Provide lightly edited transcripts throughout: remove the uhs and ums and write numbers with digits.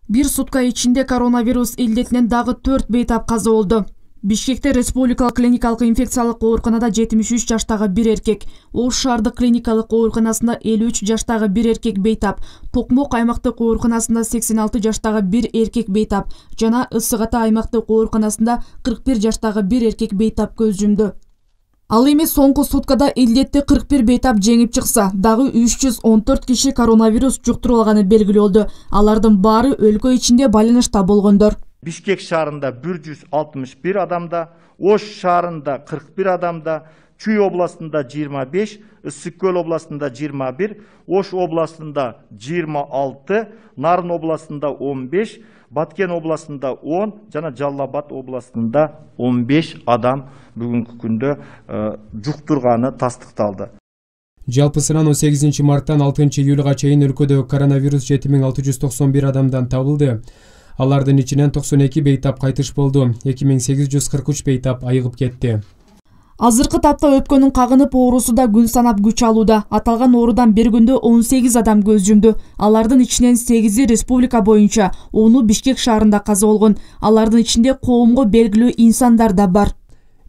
Bir сутка ичинде коронавирус илдетинен дагы 4 бейтап каза болду. Бишкекте республикалык клиникалык инфекциялык ооруканада 73 жаштагы бир эркек, Ош шаардык клиникалык ооруканасында 53 жаштагы бир эркек бейтап, Токмок аймактык ооруканасында 86 жаштагы бир эркек бейтап жана Ысык Ата аймактык ооруканасында 41 жаштагы бир эркек бейтап көз жумду. Ал эми соңку суткада илдетти 41 бейтап жеңип чыкса, дагы 314 киши коронавирус жуктуруп алганы белгилүү болду. Алардын баары өлкө ичинде байланышта болгондор. Бишкек шаарында 161 адамда, Ош шаарында 41 адамда, Чүй областында 25, Ысык Көл областында 21, Ош областында 26, Нарын областында 15, Баткен областында 10 жана Жалал Абад областында 15 адам бүгүнкү күндө жуктурганы тастыкталды. Жалпысынан 18 марттан 6 июлга чейин өлкөдө коронавирус 7691 адамдан табылды. Алардын ичинен 92 бейтап кайтыш болду, 2843 бейтап айыгып кетти. Азыркы тапта өпкөнүн кагынып оорусу да күн санап күч алууда. Аталган оорудан бир күндө 18 адам көз жумду. Алардын ичинен 8 республика боюнча, 10 Бишкек шаарында каза болгон. Алардын ичинде коомго белгилүү инсандар да бар.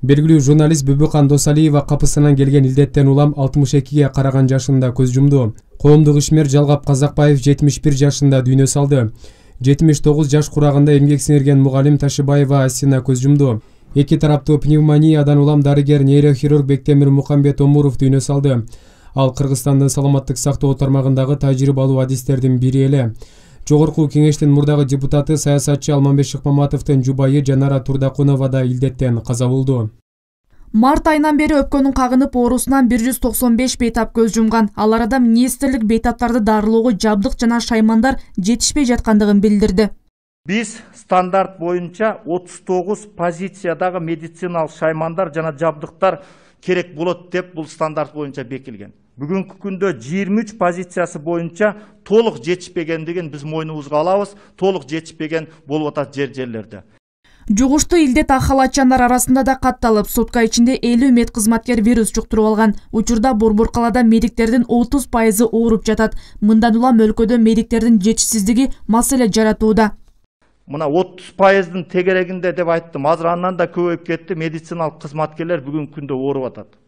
Белгилүү журналист Бүбүкан Досалиева капысынан келген илдеттен улам 62ге караган жашында көз жумду. Коомдук ишмер Жалгап Казакбаев 71 жашында дүйнө салды. 79 жаш курагында эмгек сиңирген мугалим Ташыбаева Асина көз жумду. Эки тараптуу пневмониядан улам дарыгер нейрохирург Бектемир Мукамбет Омуров дүйнө салды. Ал Кыргызстандын саламаттык сактоо тармагындагы тажрыйбалуу адистердин бири эле. Жогорку кеңештин мурдагы депутаты саясатчы Алмамбет Шыкмаматовдун жубайы Жанара Турдакунова да илдеттен каза болду. Март айынан бери өпкөнүн кагынып оорусунан 195 бейтап көз жумган. Ал арада министрлик бейтаптарды дарылоого жабдык жана шаймандар жетишпей жаткандыгын билдирди. Биз стандарт боюнча 39 позициядагы медициналык шаймандар жана жабдыктар керек болот деп бул стандарт боюнча бекилген. Бүгүнкү күндө 23 позициясы боюнча толук жетишпегендигин биз мойнубузга алабыз, толук жетишпеген болуп атат жерлерде. Жугуштуу илдет ак халатчандар арасында да катталып, сутка ичинде 50 медкызматкер вирус жуктуруп алган. Учурда Борбор калаада медиктердин 30% ооруп жатат. Мындан улам өлкөдө медиктердин жетишсиздиги маселе жаратууда. Мына 30%-дын тегерегинде деп айттым, азыр андан да көбөйүп кетти. Медициналык кызматкерлер бүгүнкү күндө ооруп атат.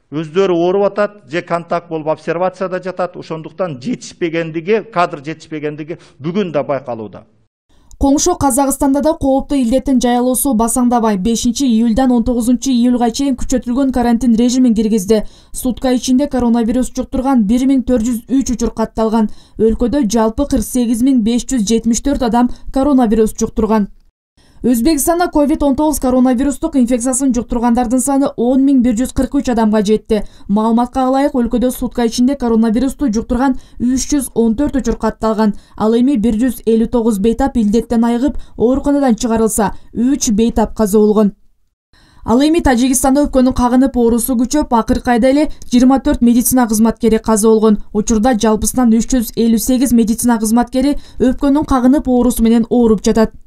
Өздөрү ооруп атат, же контакт болуп обсервацияда жатат. Ошондуктан жетишпегендиги, кадр жетишпегендиги бүгүн да байкалууда. Коңшу Казакстанда да кооптуу илдеттин жайылуусу басаңдабай 5 июлдан 19 июлга чейин күчөтүлгөн карантин режимин киргизди. Сутка ичинде коронавирус жуктурган 1403 учур катталган. Өлкөдө жалпы 48574 адам коронавирус жуктурган. Өзбекстанда COVID-19 коронавирустук инфекциясын жуктургандардын саны 10143 адамга жетти. Маалыматка ылайык, өлкөдө сутка ичинде коронавирусту жуктурган 314 учур катталган. Ал эми 159 бейтап илдеттен айыгып, ооруканадан чыгарылса, 3 бейтап каза болгон. Ал эми Тажикстанда өпкөнүн кагынып оорусу күчөп, акыркы айда эле 24 медицина кызматкери каза болгон. Учурда жалпысынан 358 медицина кызматкери өпкөнүн кагынып оорусу менен ооруп жатат.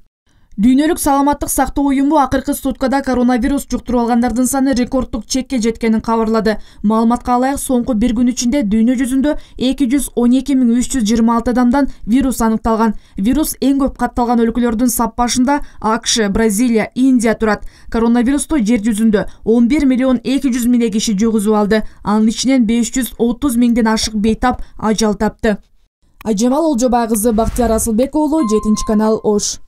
Дүйнөлүк саламаттык сактоо уюму акыркы суткада коронавирус жуктуруп алгандардын саны рекордтук чекке жеткенин кабарлады. Маалыматка ылайык, соңку бир күн ичинде дүйнө жүзүндө 212326 адамдан вирус аныкталган. Вирус эң көп катталган өлкөлөрдүн сап башында АКШ, Бразилия, Индия турат. Коронавирусту жер жүзүндө 11.200.000 киши жугузуп алды. Анын ичинен 530.000ден ашык бейтап ажал тапты. Ажамал Олжобай кызы, Бактияр Асылбек уулу, 7 канал, Ош.